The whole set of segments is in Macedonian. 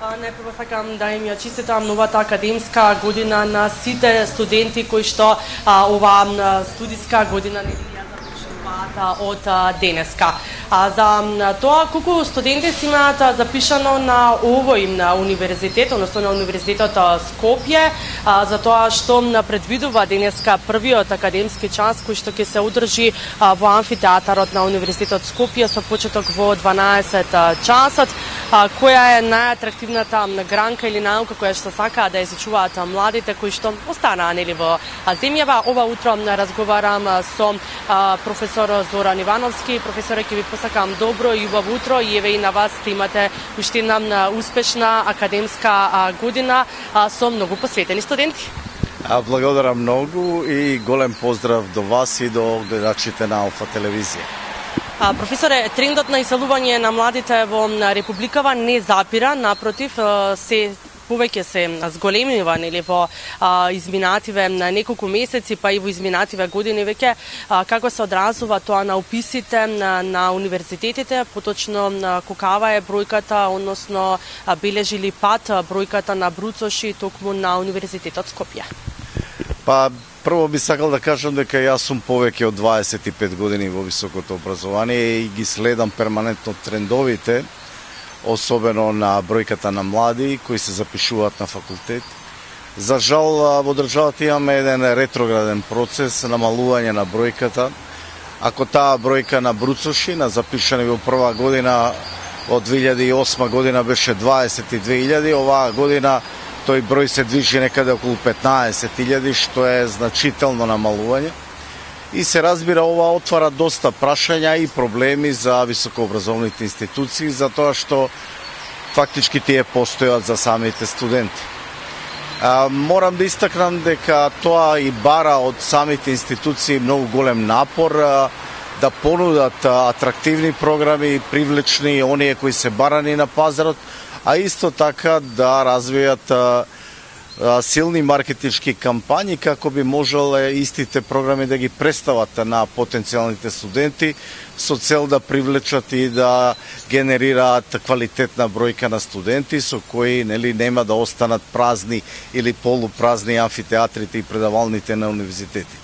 Најпрво сакам да им ја честитам новата академска година на сите студенти кои што оваа студиска година ја започнуваат од денеска. За тоа колку студенти си имаат запишано на овој универзитет, односно на Универзитетот Скопје, за тоа што предвидува денеска првиот академски час кој што ќе се одржи во амфитеатарот на Универзитетот Скопје со почеток во 12 часот. Која е најатрактивната гранка или наука која што сакаат да изучуваат младите кои што останаа нели во земјава? Ова утро разговарам со професор Зоран Ивановски. Професоре, ќе ви посакам добро и убаво утро и еве и на вас да имате уште една успешна академска година со многу посветени студенти. Благодарам многу и голем поздрав до вас и до гледачите на Алфа телевизија. Професоре, трендот на иселување на младите во Републикава не запира, напротив, се повеќе се зголемива нели во изминативе неколку месеци, па и во изминативе години веќе, како се одразува тоа на уписите на универзитетите, поточно колкава е бројката, односно бележи ли пат бројката на бруцоши токму на Универзитетот Скопје? Прво би сакал да кажам дека јас сум повеќе од 25 години во високото образование и ги следам перманентно трендовите, особено на бројката на млади кои се запишуваат на факултет. За жал, во државата имаме еден ретрограден процес, намалување на бројката. Ако таа бројка на бруцоши, на запишани во прва година од 2008 година беше 22.000, оваа година тој број се движи некаде околу 15.000, што е значително намалување. И се разбира, ова отвара доста прашања и проблеми за високообразовните институции, затоа што фактички тие постојат за самите студенти. Морам да истакнам дека тоа и бара од самите институции многу голем напор да понудат атрактивни програми, привлечни, оние кои се барани на пазарот, а исто така да развијат силни маркетички кампањи како би можеле истите програми да ги представат на потенцијалните студенти со цел да привлечат и да генерираат квалитетна бројка на студенти со кои нема да останат празни или полупразни амфитеатрите и предавалните на универзитети.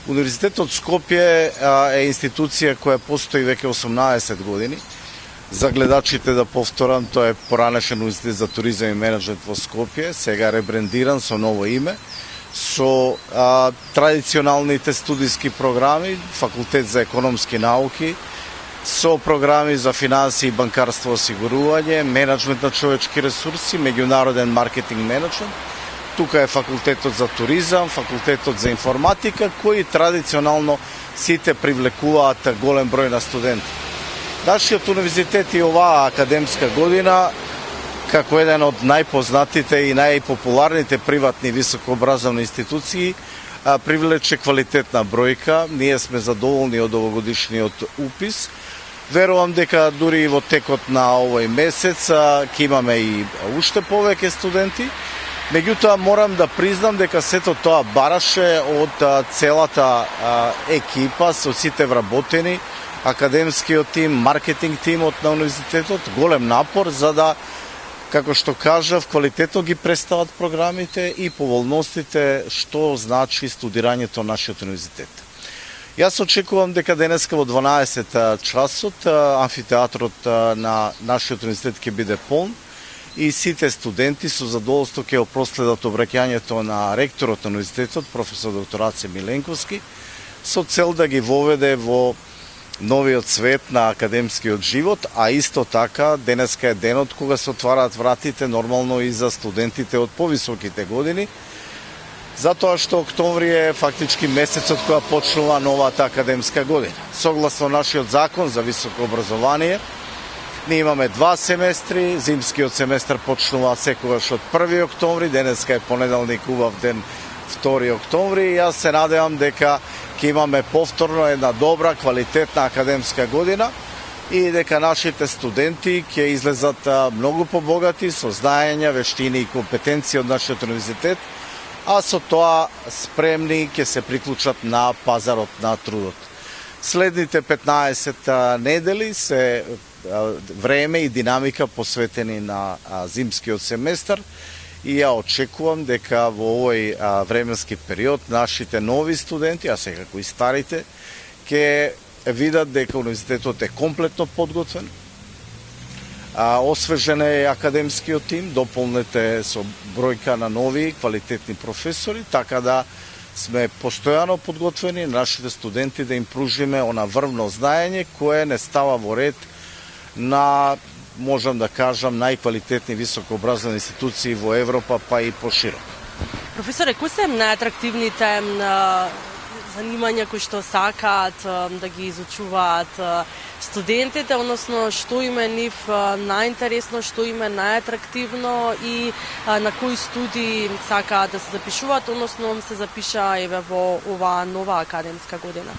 Универзитетот Скопје е институција која постои веќе 18 години. За гледачите да повторам, тоа е поранешен Универзитет за туризам и менеджмент во Скопје, сега ребрендиран со ново име, со традиционалните студиски програми, факултет за економски науки, со програми за финанси и банкарство осигурување, менеджмент на човечки ресурси, меѓународен маркетинг менеджмент. Тука е факултетот за туризам, факултетот за информатика, кои традиционално сите привлекуваат голем број на студенти. Нашиот универзитет и оваа академска година, како еден од најпознатите и најпопуларните приватни високообразовни институции, привлече квалитетна бројка. Ние сме задоволни од овогодишниот упис. Верувам дека дури и во текот на овој месец ќе имаме и уште повеќе студенти. Меѓутоа, морам да признам дека сето тоа бараше од целата екипа, со сите вработени, академскиот тим, маркетинг тимот на универзитетот, голем напор за да, како што кажав, квалитетно ги представат програмите и поволностите што значи студирањето на нашиот универзитет. Јас очекувам дека денеска во 12 часот амфитеатрот на нашиот универзитет ќе биде полн и сите студенти со задоволство ќе проследат обраќањето на ректорот на универзитетот, професор доктор Аце Миленковски, со цел да ги воведе во новиот свет на академскиот живот, а исто така денеска е денот кога се отвараат вратите нормално и за студентите од повисоките години, затоа што октомври е фактички месецот кога почнува новата академска година. Согласно нашиот закон за високо образование, ние имаме 2 семестри, зимскиот семестар почнува секогаш од 1 октомври, денеска е понеделник, убав ден 2 октомври, и јас се надевам дека ќе имаме повторно една добра, квалитетна академска година и дека нашите студенти ќе излезат многу побогати со знаења, вештини и компетенции од нашиот универзитет, а со тоа спремни ќе се приклучат на пазарот на трудот. Следните 15 недели се време и динамика посветени на зимскиот семестар и ја очекувам дека во овој временски период нашите нови студенти, а секако и старите, ќе видат дека универзитетот е комплетно подготвен, освежен е академскиот тим, дополнете со бројка на нови квалитетни професори, така да сме постојано подготвени нашите студенти да им пружиме она врвно знаење кое не става во ред на, можам да кажам, најквалитетни високообразовни институции во Европа, па и поширок. Професоре, кои се најатрактивните занимања кои што сакаат да ги изучуваат студентите, односно што им е нив најинтересно, што им е најатрактивно и на кои студии сакаат да се запишуваат, односно се запиша еве во оваа нова академска година?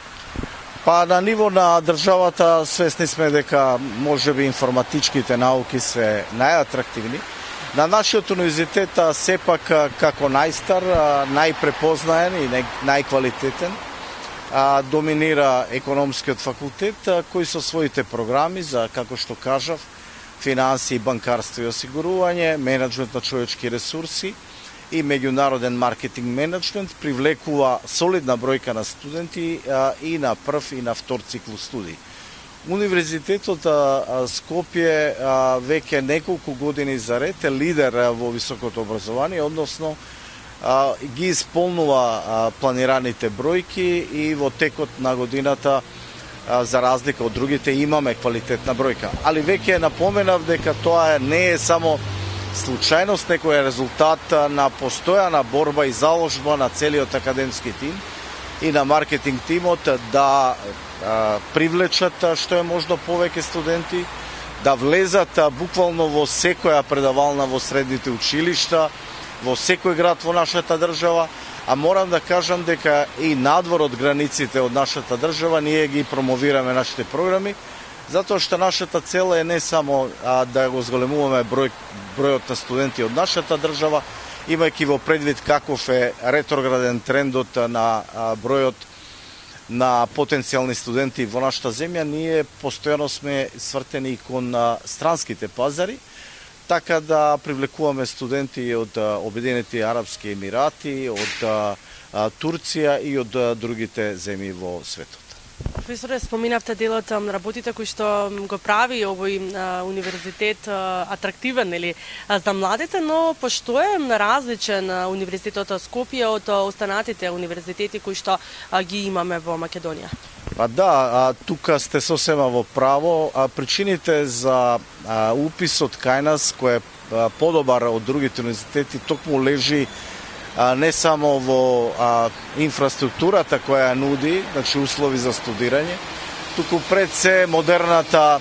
Па на ниво на државата свесни сме дека можеби информатичките науки се најатрактивни. На нашиот универзитет сепак како најстар, најпрепознаен и најквалитетен доминира економскиот факултет, кој со своите програми за, како што кажав, финансии, банкарство и осигурување, менеджмент на човечки ресурси и меѓународен маркетинг менеджмент привлекува солидна бројка на студенти и на прв и на втор циклус студии. Универзитетот Скопје веќе неколку години заред е лидер во високото образование, односно ги исполнува планираните бројки и во текот на годината, за разлика од другите, имаме квалитетна бројка. Али веќе напоменав дека тоа не е само случајност, некој е резултат на постојана борба и заложба на целиот академски тим и на маркетинг тимот да привлечат што е можно повеќе студенти, да влезат буквално во секоја предавална во средните училишта, во секој град во нашата држава, а морам да кажам дека и надвор од границите од нашата држава ние ги промовираме нашите програми, затоа што нашата цел е не само да го зголемуваме бројот на студенти од нашата држава, имајќи во предвид каков е ретрограден трендот на бројот на потенцијални студенти во нашата земја, ние постојано сме свртени кон странските пазари, така да привлекуваме студенти од Обединети Арапски Емирати, од Турција и од другите земји во светот. Професоре, споминавте делот на работите кои што го прави овој универзитет атрактивен, нели, за младите, но пошто е различен универзитетот Скопје од останатите универзитети кои што ги имаме во Македонија? Па да, тука сте сосема во право. Причините за уписот кај нас, кој е подобар од другите универзитети, токму лежи не само во инфраструктурата која нуди, значи услови за студирање, туку пред се модерната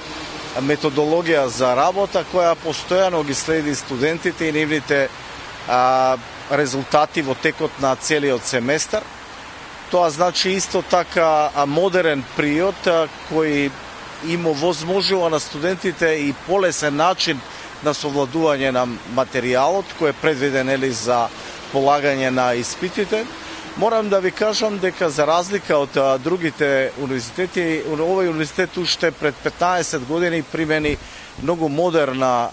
методологија за работа која постојано ги следи студентите и нивните резултати во текот на целиот семестар. Тоа значи исто така модерен приод кој им овозможува на студентите и полесен начин на совладување на материјалот кој е предвиден за полагање на испитите. Морам да ви кажам дека за разлика од другите универзитети, овој универзитет уште пред 15 години примени многу модерна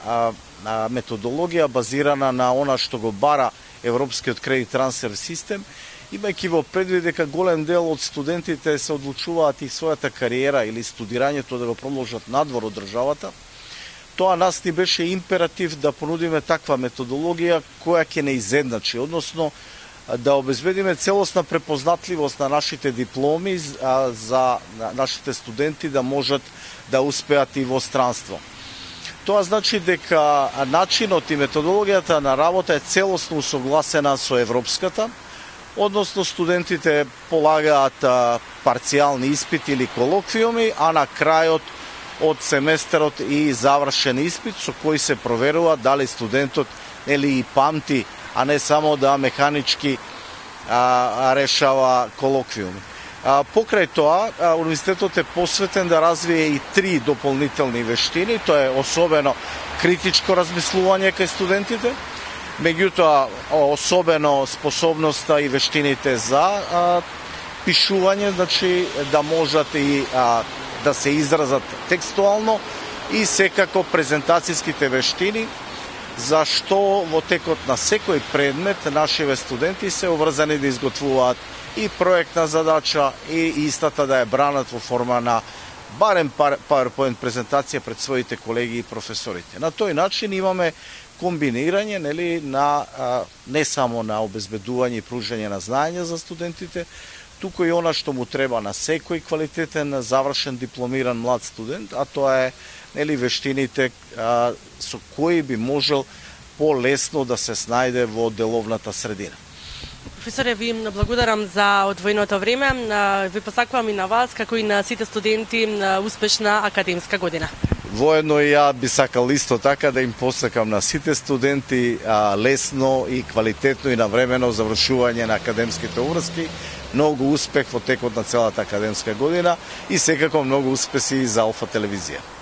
методологија базирана на она што го бара Европскиот кредит трансфер систем, имајќи во предвид дека голем дел од студентите се одлучуваат и својата кариера или студирањето да го продолжат надвор од државата. Тоа нас ни беше императив да понудиме таква методологија која ќе не изедначи, односно да обезбедиме целосна препознатливост на нашите дипломи за нашите студенти да можат да успеат и во странство. Тоа значи дека начинот и методологијата на работа е целосно усогласена со европската, односно студентите полагаат парцијални испити или колоквиуми, а на крајот од семестерот и завршен испит со кој се проверува дали студентот и памти, а не само да механички решава колоквиуми. Покрај тоа, универзитетот е посветен да развие и 3 дополнителни вештини, тоа е особено критичко размислување кај студентите, меѓутоа особено способноста и вештините за пишување, значи да можат и да се изразат текстуално, и секако презентацијските вештини, зашто во текот на секој предмет нашиве студенти се обврзани да изготвуваат и проектна задача и истата да ја бранат во форма на барем PowerPoint презентација пред своите колеги и професорите. На тој начин имаме комбинирање, нели, на не само на обезбедување и пружање на знаење за студентите, туку и она што му треба на секој квалитетен завршен дипломиран млад студент, а тоа е, нели, вештините со кои би можел полесно да се снајде во деловната средина. Професоре, ви благодарам за одвоеното време. Ви посакувам и на вас, како и на сите студенти, успешна академска година. Воедно и ја би сакал исто така да им посакам на сите студенти лесно и квалитетно и навремено завршување на академските обврски, многу успех во текот на целата академска година и секако многу успеси за Алфа телевизија.